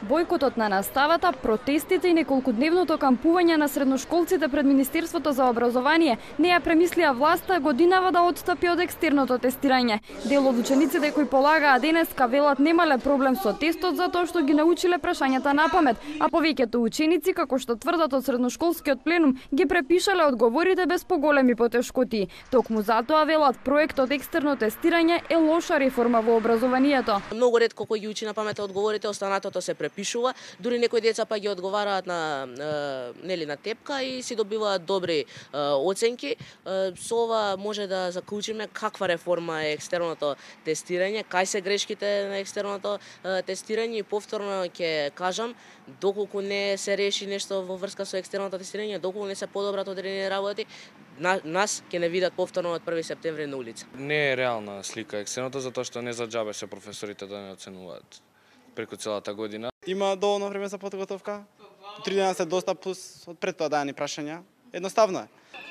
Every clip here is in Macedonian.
Бојкотот на наставата, протестите и неколкудневното кампување на средношколците пред Министерството за образование не ја премислија власта годинава да отстапи од екстерното тестирање. Дел од учениците кои полагаа денеска велат немале проблем со тестот затоа што ги научиле прашањата на памет, а повеќето ученици, како што тврдат од средношколскиот пленум, ги препишале одговорите без поголеми потешкоти. Токму затоа велат проектот екстерно тестирање е лоша реформа во образованието. Многу ретко кој ги учи на памет одговорите, останатото се препишува, дури некои деца па ги одговараат на на тепка и си добиваат добри оценки. Со ова може да заклучиме каква реформа е екстерното тестирање, кај се грешките на екстерното тестирање и повторно ќе кажам, доколку не се реши нешто во врска со екстерното тестирање, доколку не се подобрат одредени работи, нас ќе не видат повторно од 1 септември на улица. Не е реална слика екстерното затоа што не за џабе се професорите да не оценуваат преку целата година. Има доволно време за подготовка. 3 дена се доста плюс од пред тоа дадени прашања. Едноставно е.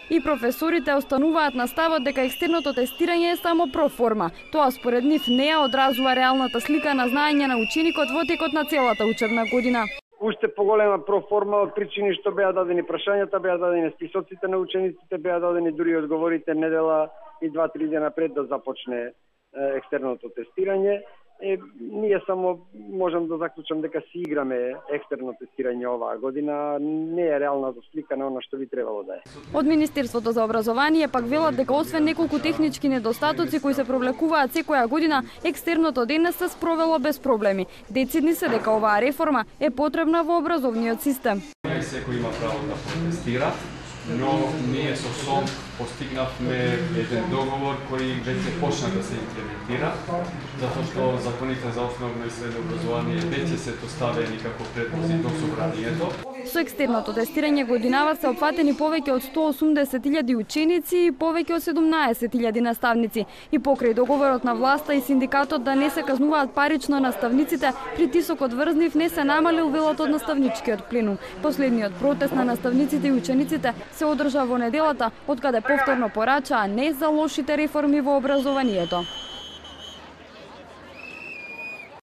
И професорите остануваат на ставот дека екстерното тестирање е само проформа. Тоа според нив не ја одразува реалната слика на знаење на ученикот во текот на целата учебна година. Уште поголема проформа од причини што беа дадени прашањата, беа дадени списоците на учениците, беа дадени дури одговорите недела и 2-3 дена пред да започне екстерното тестирање. Ние само можам да заклучам дека си играме екстерно тестирање оваа година, не е реална слика на она што би требало да е. Од Министерството за образование пак велат дека освен неколку технички недостатоци кои се провлекуваат секоја година, екстерното денес се спровело без проблеми. Децидни се дека оваа реформа е потребна во образовниот систем. Секој има право да протестира, но ние со СОМ постигнавме еден договор кој веќе почна да се имплементира, затоа што законите за основно и средно образование веќе се поставени како предпози до собранието. Со екстерното тестирање годинава се опфатени повеќе од 180.000 ученици и повеќе од 17.000 наставници. И покрај договорот на власта и синдикатот да не се казнуваат парично наставниците, притисокот врз нив не се намалил, велат од наставничкиот пленум. Последниот протест на наставниците и учениците се одржа во неделата, откаде повторно порачаа не за лошите реформи во образованието.